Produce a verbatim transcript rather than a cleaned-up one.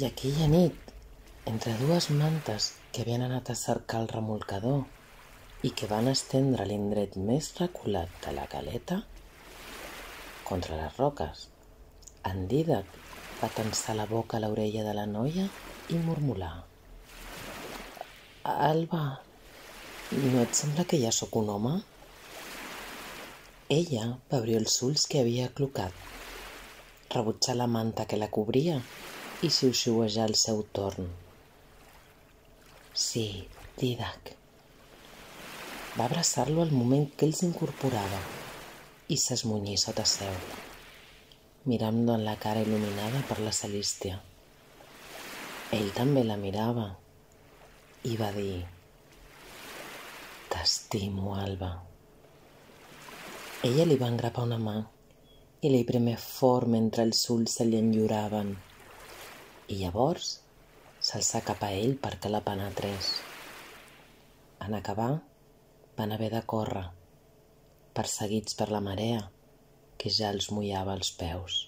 I aquella nit, entre dues mantes que havien anat a cercar el remolcador i que van estendre a l'indret més reculat de la caleta, contra les roques, en Dídac va tensar la boca a l'orella de la noia i murmurar: «Alba, no et sembla que ja sóc un home?» Ella va obrir els ulls que havia aclucat, rebutjar la manta que la cobria i xiuxiuejar al seu torn. «Sí, Dídac». Va abraçar-lo al moment que ell s'incorporava i s'esmunyí sota seu, mirant-lo en la cara il·luminada per la Celístia. Ell també la mirava i va dir: «T'estimo, Alba». Ella li va engrapar una mà i li premé fort mentre els ulls se li enlloraven, i llavors s'alçà cap a ell perquè la penetrés. En acabar, van haver de córrer, perseguits per la marea que ja els mullava els peus.